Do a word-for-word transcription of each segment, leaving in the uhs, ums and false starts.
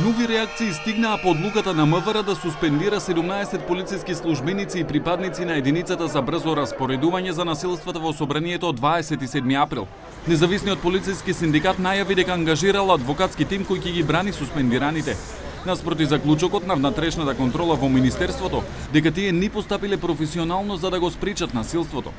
Нови реакции стигнаа по одлуката на МВР да суспендира седумнаесет полициски службеници и припадници на единицата за брзо распоредување за насилствата во собранието од дваесет и седми април. Независниот полициски синдикат најави дека ангажирал адвокатски тим кој ќе ги брани суспендираните. Наспроти заклучокот на внатрешната контрола во Министерството, дека тие не постапиле професионално за да го спречат насилството.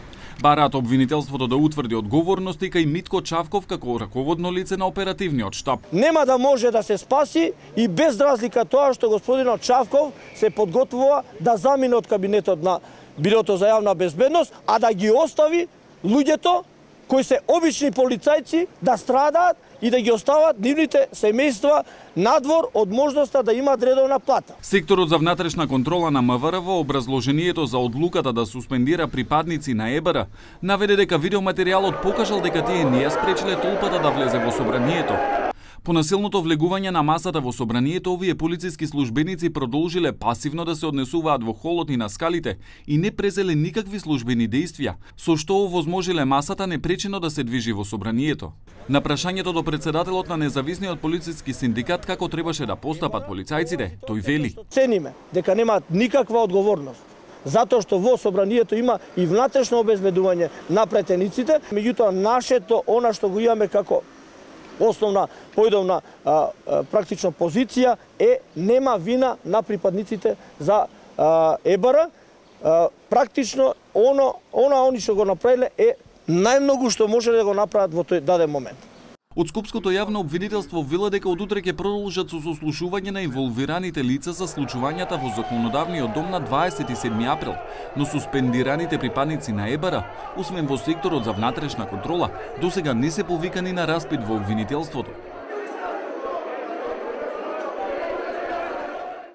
Бараат обвинителството да утврди одговорности кај Митко Чавков како раководно лице на оперативниот штаб. Нема да може да се спаси и без разлика тоа што господинот Чавков се подготвува да замине од кабинетот на Бирото за јавна безбедност, а да ги остави луѓето кои се обични полицајци да страдаат и да ги остават нивните семејства надвор од можноста да имаат редовна плата. Секторот за внатрешна контрола на МВР во образложението за одлуката да суспендира припадници на ЕБР наведе дека видеоматеријалот покажал дека тие не ја спречиле толпата да влезе во собранието. По насилното влегување на масата во собранието, овие полициски службеници продолжиле пасивно да се однесуваат во холот и на скалите и не презеле никакви службени дејствија, со што овозможиле масата непречено да се движи во собранието. На прашањето до председателот на независниот полициски синдикат како требаше да постапат полицајците, тој вели: Цениме дека немаат никаква одговорност, затоа што во собранието има и внатрешно обезбедување на претениците, меѓутоа нашето, она што го имаме како основна појдовна а, а, практично позиција е нема вина на припадниците за а, ЕБР. А, практично оно, она они што го направиле е најмногу што може да го направат во тој даден момент. Од Скопското јавно обвинителство вела дека од утре ќе продолжат со сослушување на инволвираните лица за случувањата во законодавниот дом на дваесет и седми април, но суспендираните припадници на ЕБР, освен во секторот за внатрешна контрола, досега не се повикани на распит во обвинителството.